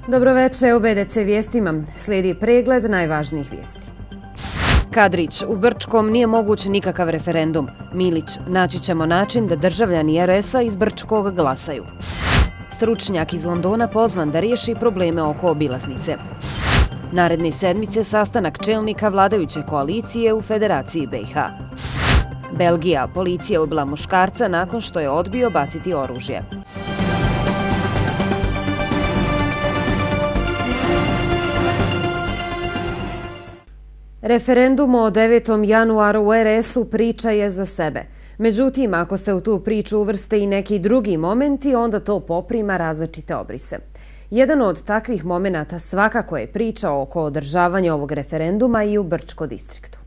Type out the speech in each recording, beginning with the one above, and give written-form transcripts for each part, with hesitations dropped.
Dobroveče, u BDC vijestima slijedi pregled najvažnijih vijesti. Kadrić, u Brčkom nije moguć nikakav referendum. Milić, naći ćemo način da državljani RS-a iz Brčkog glasaju. Stručnjak iz Londona pozvan da riješi probleme oko obilaznice. Naredne sedmice sastanak čelnika vladajuće koalicije u Federaciji BiH. Belgija, policija ubila muškarca nakon što je odbio baciti oružje. Referendum o 9. januaru u RS-u priča je za sebe. Međutim, ako se u tu priču uvrste i neki drugi momenti, onda to poprima različite obrise. Jedan od takvih momenata svakako je priča oko održavanja ovog referenduma i u Brčko distriktu.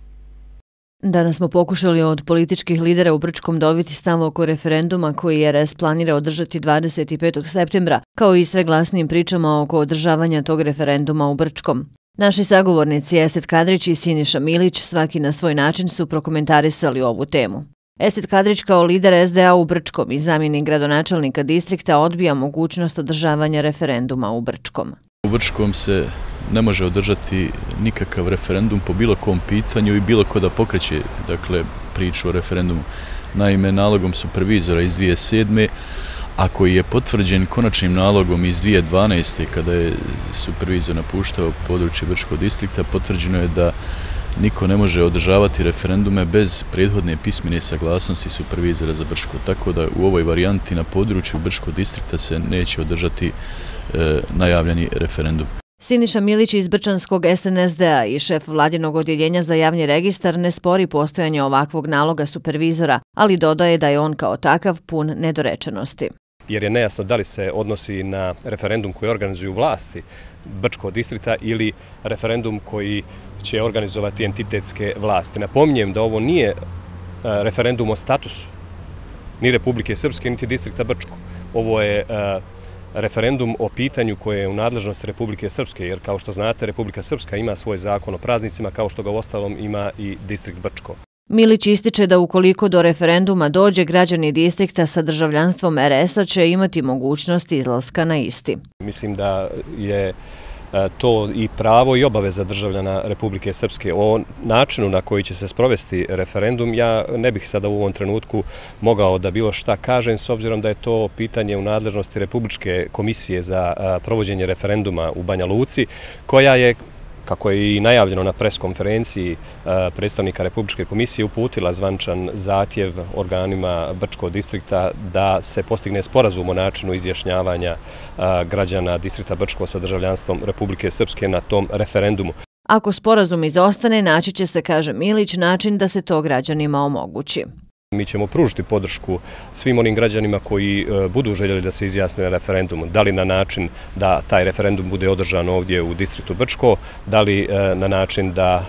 Danas smo pokušali od političkih lidera u Brčkom dobiti stav oko referenduma koji RS planira održati 25. septembra, kao i sve glasnijim pričama oko održavanja tog referenduma u Brčkom. Naši sagovornici Esed Kadrić i Siniša Milić svaki na svoj način su prokomentarisali ovu temu. Esed Kadrić kao lider SDA u Brčkom i zamjenik gradonačelnika distrikta odbija mogućnost održavanja referenduma u Brčkom. U Brčkom se ne može održati nikakav referendum po bilo kom pitanju i bilo ko da pokreće priču o referendumu. Naime, nalogom supervizora iz 2007. a koji je potvrđen konačnim nalogom iz 2012. kada je supervizor napuštao područje Brčkog distrikta, potvrđeno je da niko ne može održavati referendume bez prethodne pismene saglasnosti supervizora za Brčko. Tako da u ovoj varijanti na području Brčkog distrikta se neće održati najavljeni referendum. Siniša Milić iz Brčanskog SNSD-a i šef vladinog odjeljenja za javni registar ne spori postojanje ovakvog naloga supervizora, ali dodaje da je on kao takav pun nedorečenosti. Jer je nejasno da li se odnosi na referendum koji organizuju vlasti Brčkog distrikta ili referendum koji će organizovati entitetske vlasti. Napominjem da ovo nije referendum o statusu ni Republike Srpske, niti distrikta Brčko. Ovo je referendum o pitanju koje je u nadležnosti Republike Srpske, jer kao što znate, Republika Srpska ima svoj zakon o praznicima, kao što ga uostalom ima i distrikt Brčko. Milić ističe da ukoliko do referenduma dođe, građani distrikta sa državljanstvom RS-a će imati mogućnost izlaska na isti. Mislim da je to i pravo i obaveza državljana Republike Srpske. O načinu na koji će se sprovesti referendum, ja ne bih sada u ovom trenutku mogao da bilo šta kažem, s obzirom da je to pitanje u nadležnosti Republičke komisije za provođenje referenduma u Banja Luci, koja je, kako je i najavljeno na preskonferenciji predstavnika Republičke komisije, uputila zvaničan zahtjev organima Brčkog distrikta da se postigne sporazum o načinu izjašnjavanja građana distrikta Brčko sa državljanstvom Republike Srpske na tom referendumu. Ako sporazum izostane, naći će se, kaže Milić, način da se to građanima omogući. Mi ćemo pružiti podršku svim onim građanima koji budu željeli da se izjasne na referendumu. Da li na način da taj referendum bude održan ovdje u distriktu Brčko, da li na način da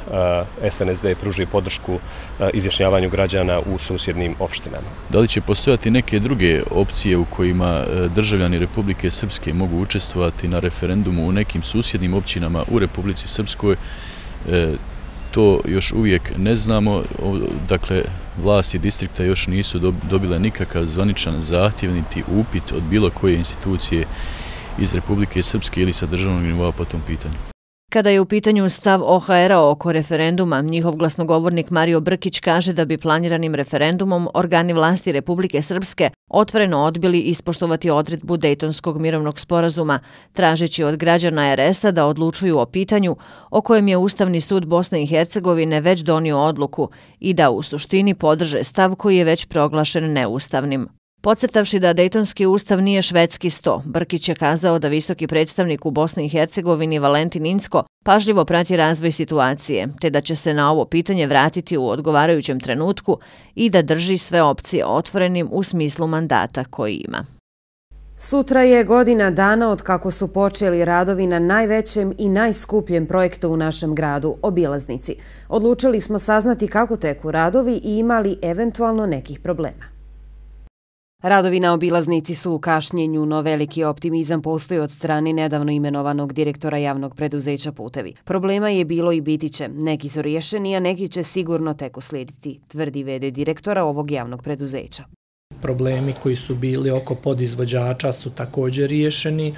SNSD pruži podršku izjašnjavanju građana u susjednim opštinama. Da li će postojati neke druge opcije u kojima državljani Republike Srpske mogu učestvovati na referendumu u nekim susjednim općinama u Republici Srpskoj? To još uvijek ne znamo, dakle vlasti distrikta još nisu dobile nikakav zvaničan zahtjev niti upit od bilo koje institucije iz Republike Srpske ili sa državnog nivoa po tom pitanju. Kada je u pitanju stav OHR-a oko referenduma, njihov glasnogovornik Mario Brkić kaže da bi planiranim referendumom organi vlasti Republike Srpske otvoreno odbili ispoštovati odredbu Dejtonskog mirovnog sporazuma, tražeći od građana RS-a da odlučuju o pitanju o kojem je Ustavni sud Bosne i Hercegovine već donio odluku i da u suštini podrže stav koji je već proglašen neustavnim. Podcrtavši da Dejtonski ustav nije švedski sto, Brkić je kazao da visoki predstavnik u Bosni i Hercegovini Valentin Incko pažljivo prati razvoj situacije, te da će se na ovo pitanje vratiti u odgovarajućem trenutku i da drži sve opcije otvorenim u smislu mandata koji ima. Sutra je godina dana od kako su počeli radovi na najvećem i najskupljem projektu u našem gradu, obilaznici. Odlučili smo saznati kako teku radovi i imali eventualno nekih problema. Radovi na obilaznici su u kašnjenju, no veliki optimizam postoji od strane nedavno imenovanog direktora javnog preduzeća Putevi. Problema je bilo i biti će. Neki su riješeni, a neki će sigurno tek uslijediti, tvrdi v.d. direktora ovog javnog preduzeća. Problemi koji su bili oko podizvođača su također riješeni.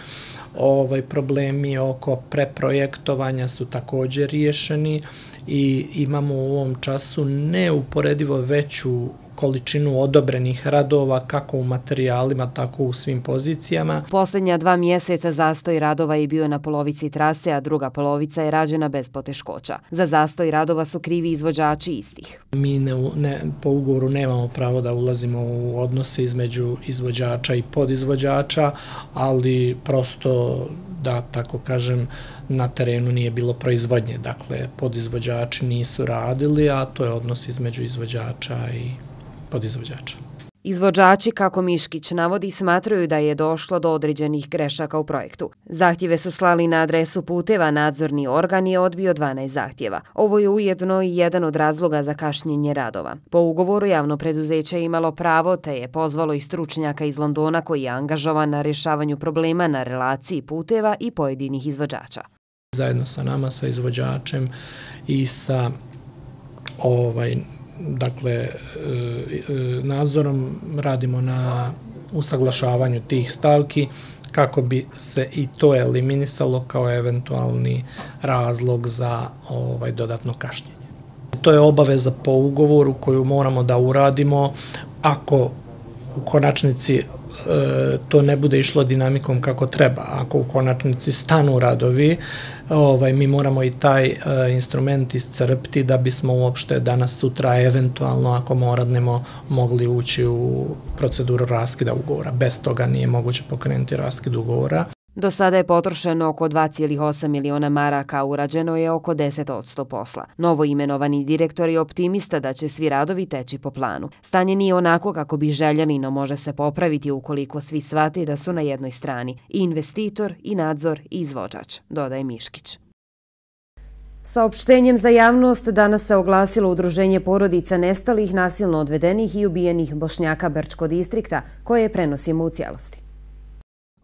problemi oko preprojektovanja su također riješeni i imamo u ovom času neuporedivo veću količinu odobrenih radova kako u materijalima, tako u svim pozicijama. Posljednja 2 mjeseca zastoj radova je bio na polovici trase, a druga polovica je rađena bez poteškoća. Za zastoj radova su krivi izvođači istih. Mi po ugovoru nemamo pravo da ulazimo u odnose između izvođača i podizvođača, ali prosto, da tako kažem, na terenu nije bilo proizvodnje. Dakle, podizvođači nisu radili, a to je odnos između izvođača i podizvođača. Izvođači, kako Miškić navodi, smatraju da je došlo do određenih grešaka u projektu. Zahtjeve su slali na adresu puteva, nadzorni organ je odbio 12 zahtjeva. Ovo je ujedno i jedan od razloga za kašnjenje radova. Po ugovoru javno preduzeće je imalo pravo, te je pozvalo i stručnjaka iz Londona koji je angažovan na rješavanju problema na relaciji puteva i pojedinih izvođača. Zajedno sa nama, sa izvođačem i sa nadzorom radimo na usaglašavanju tih stavki kako bi se i to eliminisalo kao eventualni razlog za dodatno kašnjenje. To je obaveza po ugovoru koju moramo da uradimo. Ako u konačnici to ne bude išlo dinamikom kako treba, ako u konačnici stanu radovi, mi moramo i taj instrument iscrpiti da bismo uopšte danas sutra eventualno, ako moradnemo, mogli ući u proceduru raskida ugovora. Bez toga nije moguće pokrenuti raskid ugovora. Do sada je potrošeno oko 2,8 miliona maraka, urađeno je oko 10% posla. Novo imenovani direktor je optimista da će svi radovi teći po planu. Stanje nije onako kako bi željeli, no može se popraviti ukoliko svi shvate da su na jednoj strani i investitor, i nadzor, i izvođač, dodaje Miškić. Saopštenjem za javnost danas se oglasilo Udruženje porodica nestalih, nasilno odvedenih i ubijenih Bošnjaka Brčko distrikta, koje prenosimo u cijelosti.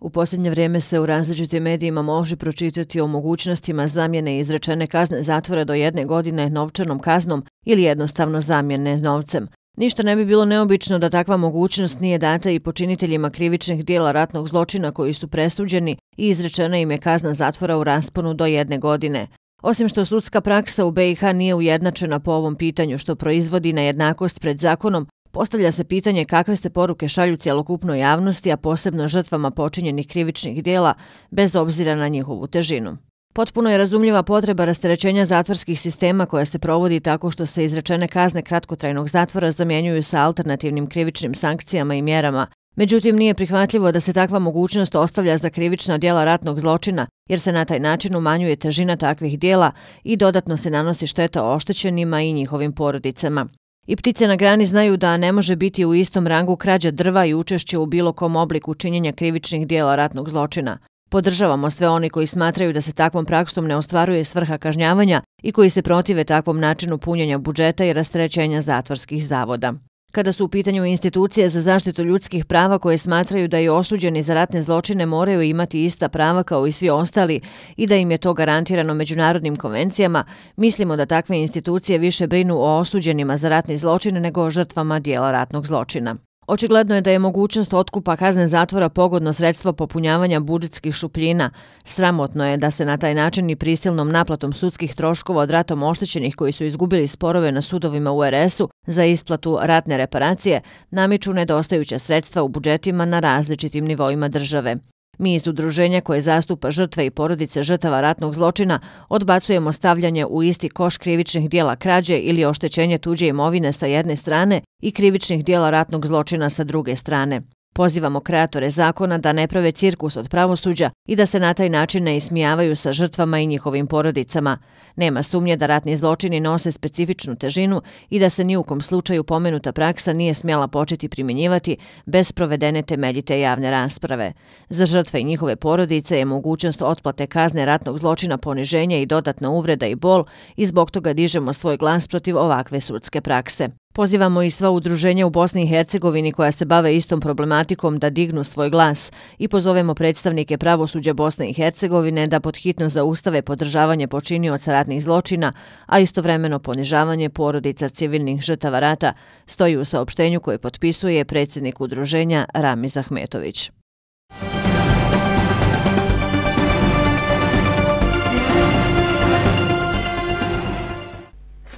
U posljednje vrijeme se u različitim medijima može pročitati o mogućnostima zamjene izrečene kazne zatvora do 1 godine novčanom kaznom ili jednostavno zamjene novcem. Ništa ne bi bilo neobično da takva mogućnost nije data i počiniteljima krivičnih dijela ratnog zločina koji su presuđeni i izrečena im je kazna zatvora u rasponu do 1 godine. Osim što sudska praksa u BiH nije ujednačena po ovom pitanju što proizvodi nejednakost pred zakonom, postavlja se pitanje kakve se poruke šalju cjelokupnoj javnosti, a posebno žrtvama počinjenih krivičnih dijela, bez obzira na njihovu težinu. Potpuno je razumljiva potreba rasterećenja zatvorskih sistema koja se provodi tako što se izrečene kazne kratkotrajnog zatvora zamjenjuju sa alternativnim krivičnim sankcijama i mjerama. Međutim, nije prihvatljivo da se takva mogućnost ostavlja za krivična dijela ratnog zločina, jer se na taj način umanjuje težina takvih dijela i dodatno se nanosi šteta oštećenima i njihovim porodicama. I ptice na grani znaju da ne može biti u istom rangu krađa drva i učešće u bilo kom obliku činjenja krivičnih dijela ratnog zločina. Podržavamo sve oni koji smatraju da se takvom praksom ne ostvaruje svrha kažnjavanja i koji se protive takvom načinu punjenja budžeta i rasterećenja zatvorskih zavoda. Kada su u pitanju institucije za zaštitu ljudskih prava koje smatraju da i osuđeni za ratne zločine moraju imati ista prava kao i svi ostali i da im je to garantirano međunarodnim konvencijama, mislimo da takve institucije više brinu o osuđenima za ratni zločin nego o žrtvama dijela ratnog zločina. Očigledno je da je mogućnost otkupa kazne zatvora pogodno sredstvo popunjavanja budžetskih šupljina. Sramotno je da se na taj način i prisilnom naplatom sudskih troškova od ratom oštećenih koji su izgubili sporove na sudovima u RS-u za isplatu ratne reparacije namiču nedostajuća sredstva u budžetima na različitim nivoima države. Mi iz udruženja koje zastupa žrtve i porodice žrtava ratnog zločina odbacujemo stavljanje u isti koš krivičnih dijela krađe ili oštećenje tuđe imovine sa jedne strane i krivičnih dijela ratnog zločina sa druge strane. Pozivamo kreatore zakona da ne prave cirkus od pravosuđa i da se na taj način ne ismijavaju sa žrtvama i njihovim porodicama. Nema sumnje da ratni zločini nose specifičnu težinu i da se ni u kom slučaju pomenuta praksa nije smjela početi primjenjivati bez provedene temeljite javne rasprave. Za žrtve i njihove porodice je mogućnost otplate kazne ratnog zločina poniženja i dodatna uvreda i bol i zbog toga dižemo svoj glas protiv ovakve sudske prakse. Pozivamo i sva udruženja u Bosni i Hercegovini koja se bave istom problematikom da dignu svoj glas i pozovemo predstavnike pravosuđa Bosne i Hercegovine da podhitno zaustave podržavanje počinioca ratnih zločina, a istovremeno ponižavanje porodica civilnih žrtava rata, stoji u saopštenju koje potpisuje predsjednik udruženja Ramiz Ahmetović.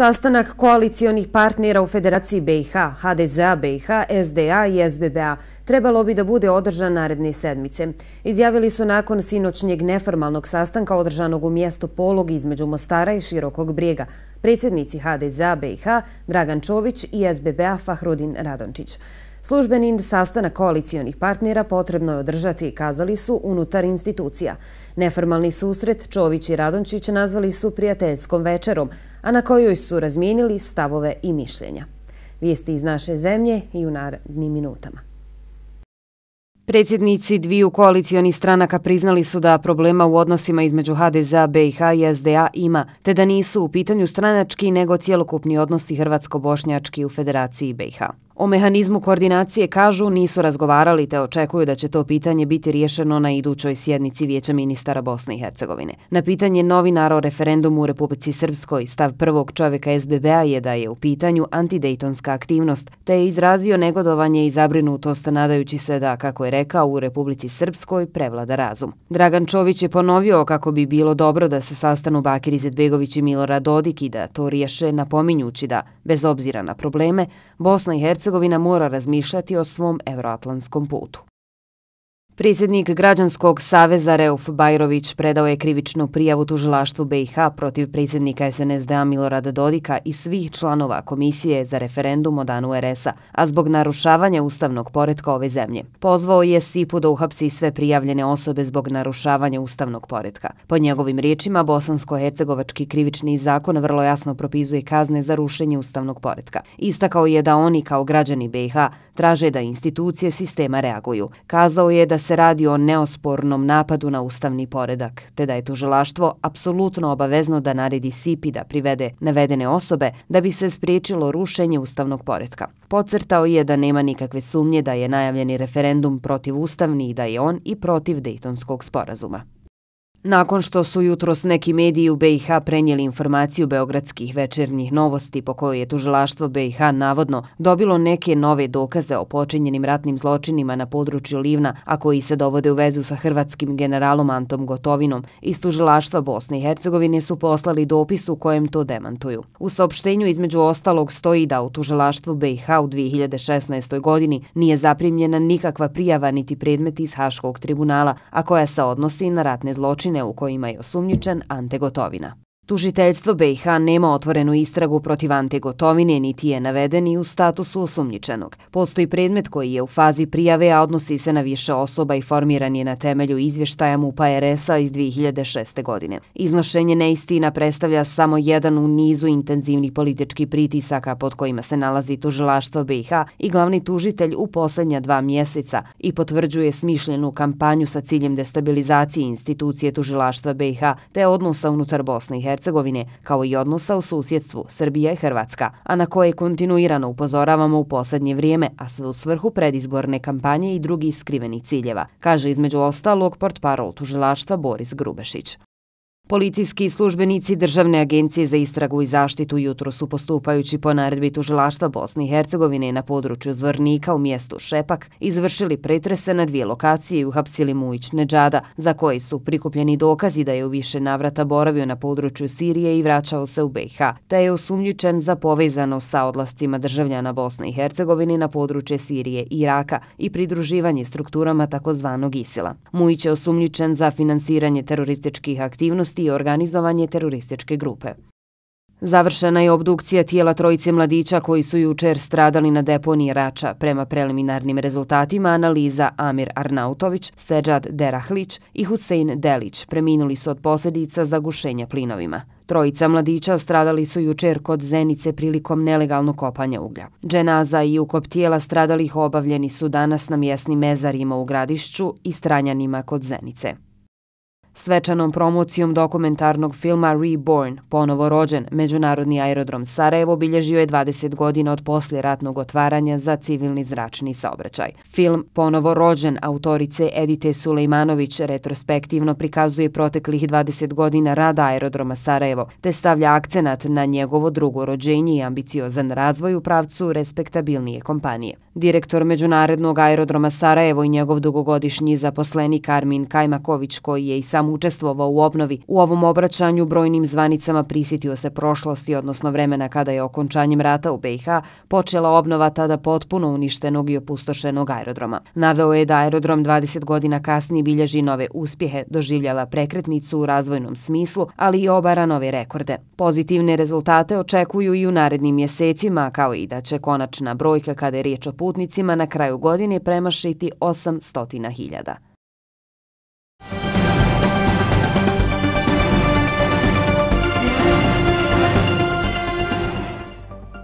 Sastanak koalicionih partnera u Federaciji BiH, HDZ-a BiH, SDA i SBB-a trebalo bi da bude održan naredne sedmice. Izjavili su nakon sinoćnjeg neformalnog sastanka održanog u mjestu Polog između Mostara i Širokog Brijega, predsjednici HDZ-a BiH Dragan Čović i SBB-a Fahrudin Radončić. Službeni sastanak koalicionih partnera potrebno je održati, kazali su, unutar institucija. Neformalni susret Čović i Radončić nazvali su prijateljskom večerom, a na kojoj su razmijenili stavove i mišljenja. Vijesti iz naše zemlje i u narednim minutama. Predsjednici dviju koalicionih stranaka priznali su da problema u odnosima između HDZ-a BiH i SDA ima, te da nisu u pitanju stranački nego cjelokupni odnosi hrvatsko-bošnjački u Federaciji BiH. O mehanizmu koordinacije kažu nisu razgovarali te očekuju da će to pitanje biti riješeno na idućoj sjednici Vijeća ministara Bosne i Hercegovine. Na pitanje novinara o referendumu u Republici Srpskoj stav prvog čovjeka SBB-a je da je u pitanju antidejtonska aktivnost, te je izrazio negodovanje i zabrinutost nadajući se da, kako je rekao, u Republici Srpskoj prevlada razum. Dragan Čović je ponovio kako bi bilo dobro da se sastanu Bakir Izetbegović i Milorad Dodik i da to riješe, napominjući da, bez obzira na probleme, Bosna i Hercegovina mora razmišljati o svom evroatlantskom putu. Predsjednik Građanskog saveza Reuf Bajrović predao je krivičnu prijavu tužilaštvu BiH protiv predsjednika SNSD-a Milorada Dodika i svih članova Komisije za referendum o danu RS-a, a zbog narušavanja ustavnog poretka ove zemlje. Pozvao je SIP-u da uhapsi sve prijavljene osobe zbog narušavanja ustavnog poretka. Po njegovim riječima, bosansko-hercegovački krivični zakon vrlo jasno propisuje kazne za rušenje ustavnog poretka. Istakao je da oni kao građani BiH traže da institucije sistema reaguju. Kazao je da se radi o neospornom napadu na ustavni poredak, te da je tužilaštvo apsolutno obavezno da naredi SIP-i da privede navedene osobe da bi se spriječilo rušenje ustavnog poretka. Podcrtao je da nema nikakve sumnje da je najavljeni referendum protivustavni i da je on i protiv Dejtonskog sporazuma. Nakon što su jutros neki mediji u BiH prenijeli informaciju beogradskih večernjih novosti po kojoj je tužilaštvo BiH navodno dobilo neke nove dokaze o počinjenim ratnim zločinima na području Livna, a koji se dovode u vezu sa hrvatskim generalom Antom Gotovinom, iz tužilaštva Bosne i Hercegovine su poslali dopis u kojem to demantuju. U saopštenju između ostalog stoji da u tužilaštvu BiH u 2016. godini nije zaprimljena nikakva prijava niti predmet iz Haškog tribunala, a koja se odnosi na ratne zločine u kojima je osumnjičen Ante Gotovina. Tužiteljstvo BiH nema otvorenu istragu protiv Ante Gotovine, niti je naveden i u statusu osumnjičenog. Postoji predmet koji je u fazi prijave, a odnosi se na više osoba i formiran je na temelju izvještaja MUP-a RS-a iz 2006. godine. Iznošenje neistina predstavlja samo jedan u nizu intenzivnih političkih pritisaka pod kojima se nalazi tužilaštvo BiH i glavni tužitelj u posljednja 2 mjeseca i potvrđuje smišljenu kampanju sa ciljem destabilizacije institucije tužilaštva BiH te odnosa unutar Bosne i Hercegovine, kao i odnosa u susjedstvu Srbija i Hrvatska, a na koje kontinuirano upozoravamo u posljednje vrijeme, a sve u svrhu predizborne kampanje i drugih skrivenih ciljeva, kaže između ostalog portparol tužilaštva Boris Grubešić. Policijski službenici Državne agencije za istragu i zaštitu jutro su postupajući po naredbi tužilaštva Bosne i Hercegovine na području Zvornika u mjestu Šepak izvršili pretrese na 2 lokacije i uhapsili Mujić Nedžada, za koji su prikupljeni dokazi da je u više navrata boravio na području Sirije i vraćao se u BiH, te je osumnjičen za povezanost sa odlascima državljana Bosne i Hercegovine na područje Sirije i Iraka i pridruživanje strukturama takozvanog ISIL-a. Mujić je osumnjičen za finansiranje terorističkih aktivnosti i organizovanje terorističke grupe. Završena je obdukcija tijela 3 mladića koji su jučer stradali na deponiji Rača. Prema preliminarnim rezultatima analiza Amir Arnautović, Seđad Derahlić i Husein Delić preminuli su od posljedica zagušenja plinovima. 3 mladića stradali su jučer kod Zenice prilikom nelegalnog kopanja uglja. Dženaza i ukop tijela stradalih obavljeni su danas na mjesnim mezarima u Gradišću i Stranjanima kod Zenice. Svečanom promocijom dokumentarnog filma Reborn, ponovo rođen, Međunarodni aerodrom Sarajevo obilježio je 20 godina od poslijeratnog otvaranja za civilni zračni saobraćaj. Film Ponovo rođen autorice Edite Sulejmanović retrospektivno prikazuje proteklih 20 godina rada aerodroma Sarajevo, te stavlja akcenat na njegovo drugo rođenje i ambiciozan razvoj u pravcu respektabilnije kompanije. Direktor Međunarodnog aerodroma Sarajevo i njegov dugogodišnji zaposlenik Armin Kajmaković, koji je i sam učestvovao u obnovi. U ovom obraćanju brojnim zvanicama prisjetio se prošlosti, odnosno vremena kada je okončanjem rata u BiH počela obnova tada potpuno uništenog i opustošenog aerodroma. Naveo je da aerodrom 20 godina kasnije bilježi nove uspjehe, doživljava prekretnicu u razvojnom smislu, ali i obara nove rekorde. Pozitivne rezultate očekuju i u narednim mjesecima, kao i da će konačna brojka kada je riječ o putnicima na kraju godine premašiti 800.000.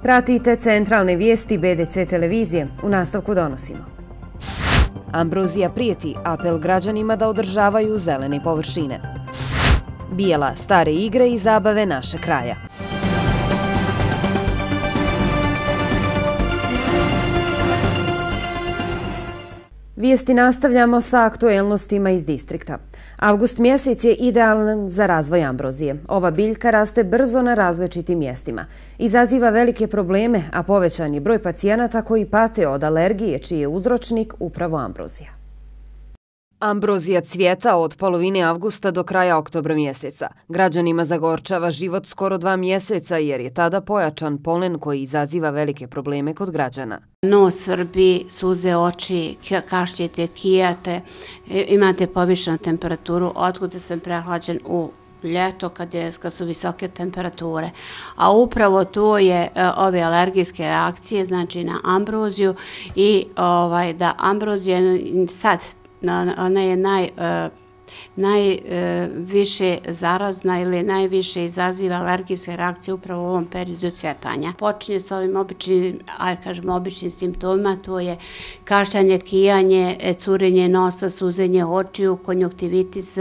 Pratite centralne vijesti BDC televizije. U nastavku donosimo. Ambrozija prijeti, apel građanima da održavaju zelene površine. Bijela, stare igre i zabave naše kraja. Vijesti nastavljamo sa aktuelnostima iz distrikta. Avgust mjesec je idealan za razvoj ambrozije. Ova biljka raste brzo na različitim mjestima. Izaziva velike probleme, a povećan je broj pacijenata koji pate od alergije, čiji je uzročnik upravo ambrozija. Ambrozija cvjeta od polovine avgusta do kraja oktobra mjeseca. Građanima zagorčava život skoro 2 mjeseca jer je tada pojačan polen koji izaziva velike probleme kod građana. Nos svrbi, suze oči, kašljete, kijate, imate povišenu temperaturu, otkuda sam prehlađen u ljeto kad su visoke temperature. A upravo to je ove alergijske reakcije, znači na ambroziju i da ambrozija sad ona je najviše zarazna ili najviše izaziva alergijske reakcije upravo u ovom periodu cvjetanja. Počinje s ovim običnim simptomima, to je kašljanje, kijanje, curenje nosa, suzenje očiju, konjunktivitis,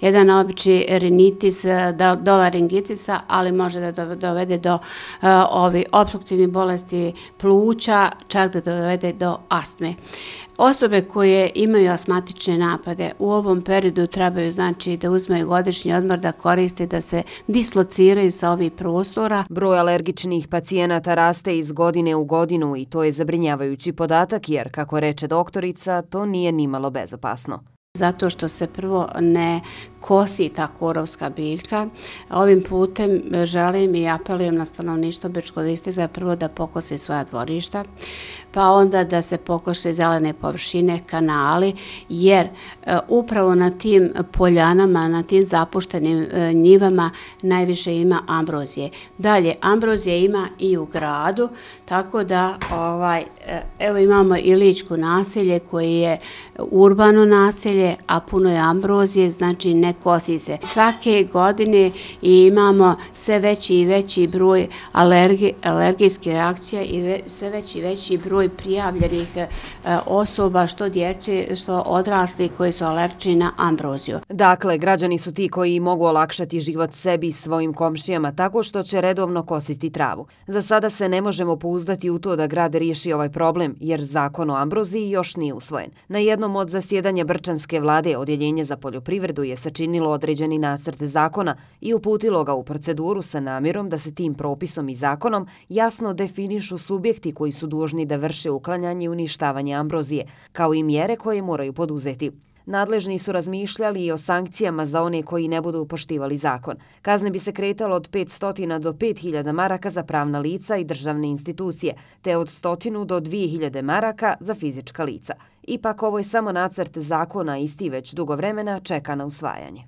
jedan obični rinitis, do laringitisa, ali može da dovede do opstruktivnih bolesti pluća, čak da dovede do astme. Osobe koje imaju astmatične napade u ovom periodu trebaju znači da uzmeju godišnji odmor, da koriste, da se dislociraju sa ovih prostora. Broj alergičnih pacijenata raste iz godine u godinu i to je zabrinjavajući podatak jer, kako reče doktorica, to nije nimalo bezopasno. Zato što se prvo ne kosi ta korovska biljka. Ovim putem želim i apelujem na stanovništvo Bečkog distrikta prvo da pokose svoja dvorišta, pa onda da se pokose zelene površine, kanali, jer upravo na tim poljanama, na tim zapuštenim njivama najviše ima ambrozije. Dalje, ambrozije ima i u gradu, tako da evo imamo i Ličko naselje koje je urbano naselje, a puno je ambrozije, znači ne kosi se. Svake godine imamo sve veći i veći broj alergijskih reakcija i sve veći i veći broj prijavljenih osoba, što djece, što odrasli koji su alergični na ambroziju. Dakle, građani su ti koji mogu olakšati život sebi i svojim komšijama tako što će redovno kositi travu. Za sada se ne možemo pouzdati u to da grad riješi ovaj problem, jer zakon o ambroziji još nije usvojen. Na jednom od zasjedanja Brčanske vlade Odjeljenje za poljoprivredu je sačinilo određeni nacrt zakona i uputilo ga u proceduru sa namjerom da se tim propisom i zakonom jasno definišu subjekti koji su dužni da vrše uklanjanje i uništavanje ambrozije, kao i mjere koje moraju poduzeti. Nadležni su razmišljali i o sankcijama za one koji ne budu poštivali zakon. Kazne bi se kretalo od 500 do 5.000 maraka za pravna lica i državne institucije, te od 100 do 2.000 maraka za fizička lica. Ipak ovo je samo nacrt zakona, isti već dugo vremena čeka na usvajanje.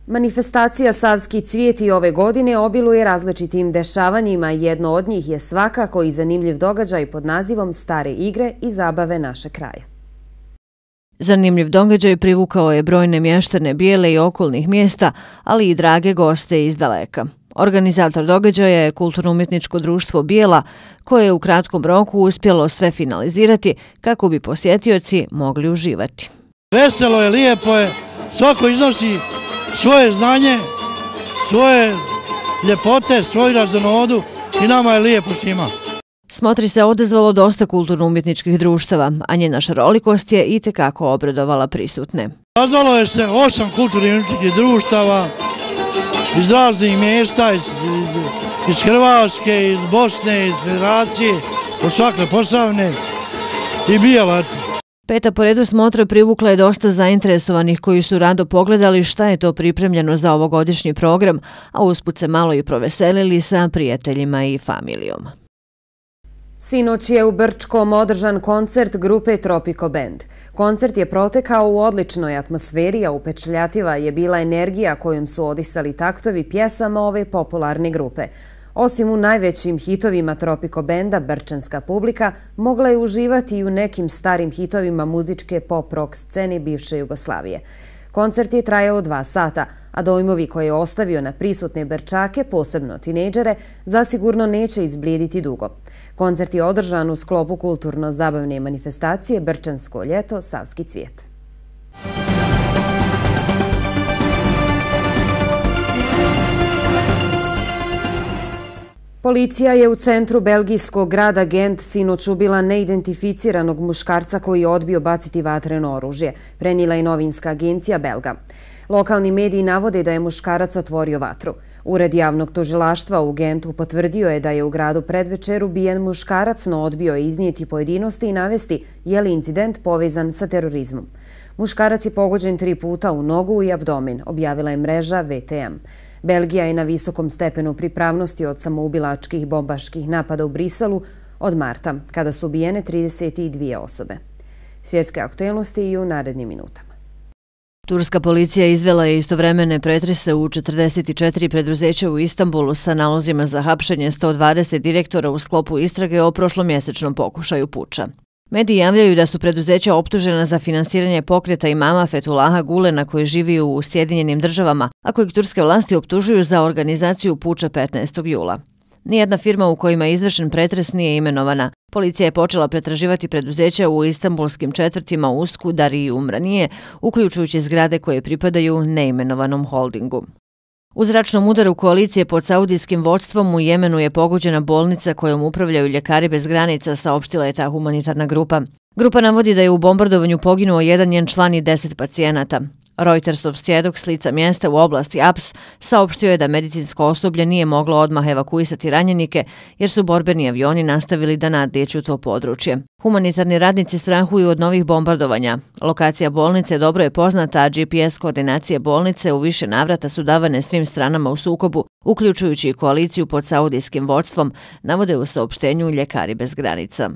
Manifestacija Savski cvijet i ove godine obiluje različitim dešavanjima. Jedno od njih je svakako i zanimljiv događaj pod nazivom Stare igre i zabave naše kraja. Zanimljiv događaj privukao je brojne mještane Bijele i okolnih mjesta, ali i drage goste iz daleka. Organizator događaja je Kulturno-umjetničko društvo Bijela, koje je u kratkom roku uspjelo sve finalizirati kako bi posjetioci mogli uživati. Veselo je, lijepo je, svako iznosi svoje znanje, svoje ljepote, svoju raznodu i nama je lijepo s njima. Smotri se odazvalo dosta kulturno-umjetničkih društava, a njena šarolikost je itekako obradovala prisutne. Odazvalo je se 8 kulturno-umjetničkih društava iz raznih mjesta, iz Hrvatske, iz Bosne, iz Federacije, od svakle Posavne i Bijela. Peta po redu smotra privukla je dosta zainteresovanih koji su rado pogledali šta je to pripremljeno za ovogodišnji program, a usput se malo i proveselili sa prijateljima i familijom. Sinoć je u Brčkom održan koncert grupe Tropico Band. Koncert je protekao u odličnoj atmosferi, a upečatljiva je bila energija kojom su odisali taktovi pjesama ove popularne grupe. Osim u najvećim hitovima Tropico Banda, brčanska publika mogla je uživati i u nekim starim hitovima muzičke pop-rock scene bivše Jugoslavije. Koncert je trajao 2 sata, a dojmovi koje je ostavio na prisutne Brčake, posebno tinejdžere, zasigurno neće izblijediti dugo. Koncert je održan u sklopu kulturno-zabavne manifestacije Brčansko ljeto, Savski cvijet. Policija je u centru belgijskog grada Gent sinoć ubila neidentificiranog muškarca koji je odbio baciti vatreno oružje, prenijela je novinska agencija Belga. Lokalni mediji navode da je muškarac otvorio vatru. Ured javnog tužilaštva u Gentu potvrdio je da je u gradu predvečer ubijen muškarac, no odbio je iznijeti pojedinosti i navesti je li incident povezan sa terorizmom. Muškarac je pogođen 3 puta u nogu i abdomen, objavila je mreža VTM. Belgija je na visokom stepenu pripravnosti od samoubilačkih bombaških napada u Briselu od marta, kada su ubijene 32 osobe. Svjetske aktualnosti i u narednim minutama. Turska policija izvela je istovremene pretrese u 44 preduzeća u Istanbulu sa nalozima za hapšenje 120 direktora u sklopu istrage o prošlomjesečnom pokušaju puča. Mediji javljaju da su preduzeća optužena za finansiranje pokreta imama Fethullaha Gulena koji živi u Sjedinjenim državama, a kojeg turske vlasti optužuju za organizaciju puča 15. jula. Nijedna firma u kojima je izvršen pretres nije imenovana. Policija je počela pretraživati preduzeća u istanbulskim četvrtima Uskudar i Umranije, uključujući zgrade koje pripadaju neimenovanom holdingu. U zračnom udaru koalicije pod saudijskim vodstvom u Jemenu je pogođena bolnica kojom upravljaju Ljekari bez granica, saopštila je ta humanitarna grupa. Grupa navodi da je u bombardovanju poginuo jedan njen član i 10 pacijenata. Reutersov svjedok s lica mjesta u oblasti Aps saopštio je da medicinsko osoblje nije moglo odmah evakuisati ranjenike jer su borbeni avioni nastavili da nadlijeću to područje. Humanitarni radnici strahuju od novih bombardovanja. Lokacija bolnice dobro je poznata, a GPS koordinacije bolnice u više navrata su davane svim stranama u sukobu, uključujući i koaliciju pod saudijskim vodstvom, navode u saopštenju Ljekari bez granica.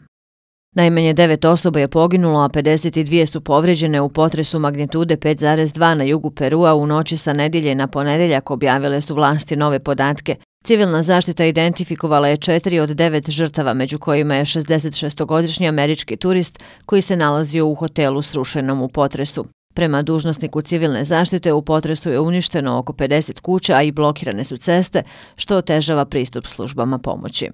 Najmanje 9 osoba je poginulo, a 52 su povrijeđene u potresu magnitude 5,2 na jugu Perua u noći sa nedjelje na ponedjeljak, objavile su vlasti nove podatke. Civilna zaštita identifikovala je 4 od 9 žrtava, među kojima je 66-godišnji američki turist koji se nalazio u hotelu srušenom u potresu. Prema dužnosniku civilne zaštite u potresu je uništeno oko 50 kuća, a i blokirane su ceste, što otežava pristup službama pomoći.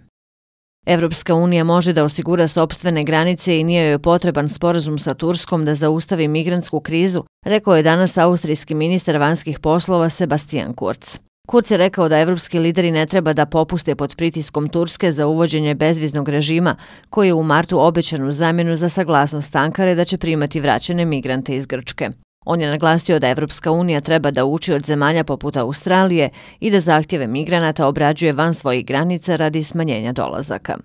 Evropska unija može da osigura sopstvene granice i nije joj potreban sporazum sa Turskom da zaustavi migrantsku krizu, rekao je danas austrijski ministar vanjskih poslova Sebastian Kurz. Kurz je rekao da evropski lideri ne treba da popuste pod pritiskom Turske za uvođenje bezviznog režima, koji je u martu obećan u zamjenu za saglasnost Ankare da će primati vraćene migrante iz Grčke. On je naglasio da Evropska unija treba da uči od zemalja poput Australije i da zahtjeve migranata obrađuje van svojih granica radi smanjenja dolazaka.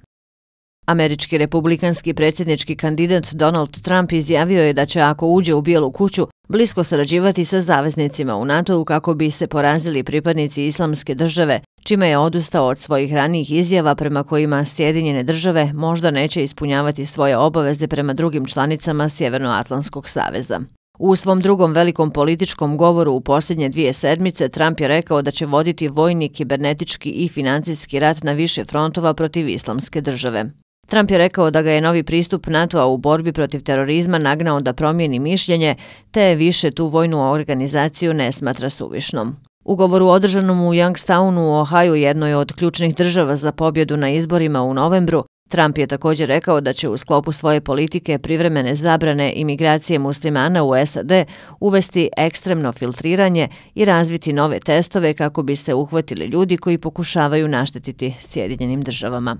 Američki republikanski predsjednički kandidat Donald Trump izjavio je da će, ako uđe u Bijelu kuću, blisko sarađivati sa zaveznicima u NATO-u kako bi se porazili pripadnici Islamske države, čime je odustao od svojih ranijih izjava prema kojima Sjedinjene države možda neće ispunjavati svoje obaveze prema drugim članicama Sjevernoatlantskog saveza. U svom drugom velikom političkom govoru u posljednje 2 sedmice Trump je rekao da će voditi vojni, kibernetički i financijski rat na više frontova protiv Islamske države. Trump je rekao da ga je novi pristup NATO-a u borbi protiv terorizma nagnao da promijeni mišljenje, te više tu vojnu organizaciju ne smatra suvišnom. U govoru održanom u Youngstownu u Ohaju, jednoj od ključnih država za pobjedu na izborima u novembru, Trump je također rekao da će u sklopu svoje politike privremene zabrane imigracije muslimana u SAD uvesti ekstremno filtriranje i razviti nove testove kako bi se uhvatili ljudi koji pokušavaju naštetiti Sjedinjenim državama.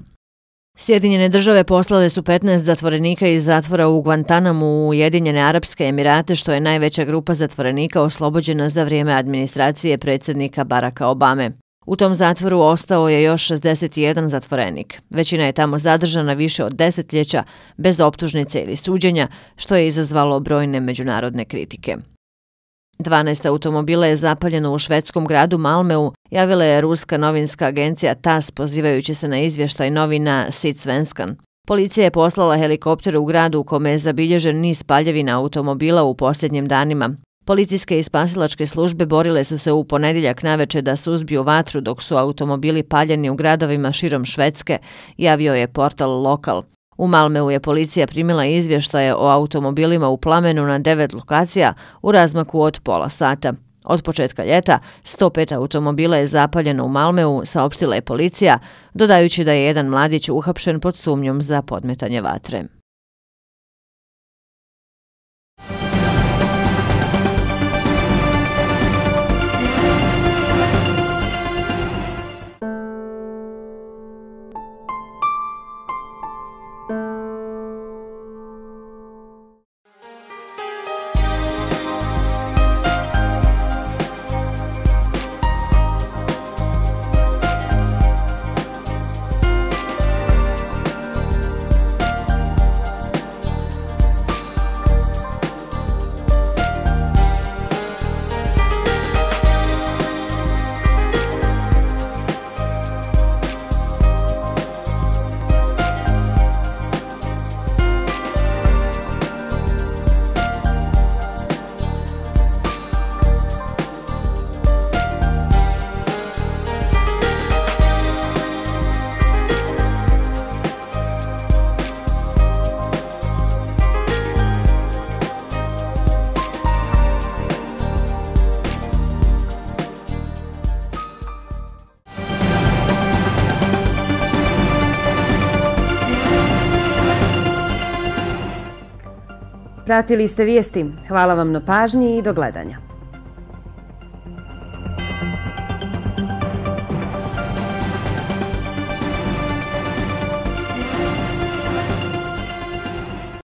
Sjedinjene države poslale su 15 zatvorenika iz zatvora u Guantanamu u Ujedinjene Arapske Emirate, što je najveća grupa zatvorenika oslobođena za vrijeme administracije predsjednika Baracka Obame. U tom zatvoru ostao je još 61 zatvorenik. Većina je tamo zadržana više od desetljeća bez optužnice ili suđenja, što je izazvalo brojne međunarodne kritike. 12 automobila je zapaljeno u švedskom gradu Malmeu, javila je ruska novinska agencija TASS pozivajući se na izvještaj novina Sydsvenskan. Policija je poslala helikopter u gradu u kome je zabilježen niz paljevina automobila u posljednjim danima. Policijske i spasilačke službe borile su se u ponedjeljak naveče da suzbiju vatru dok su automobili paljeni u gradovima širom Švedske, javio je portal Lokal. U Malmeu je policija primila izvještaje o automobilima u plamenu na 9 lokacija u razmaku od pola sata. Od početka ljeta 105 automobila je zapaljeno u Malmeu, saopštila je policija, dodajući da je jedan mladić uhapšen pod sumnjom za podmetanje vatre. Pratili ste vijesti. Hvala vam na pažnji i do gledanja.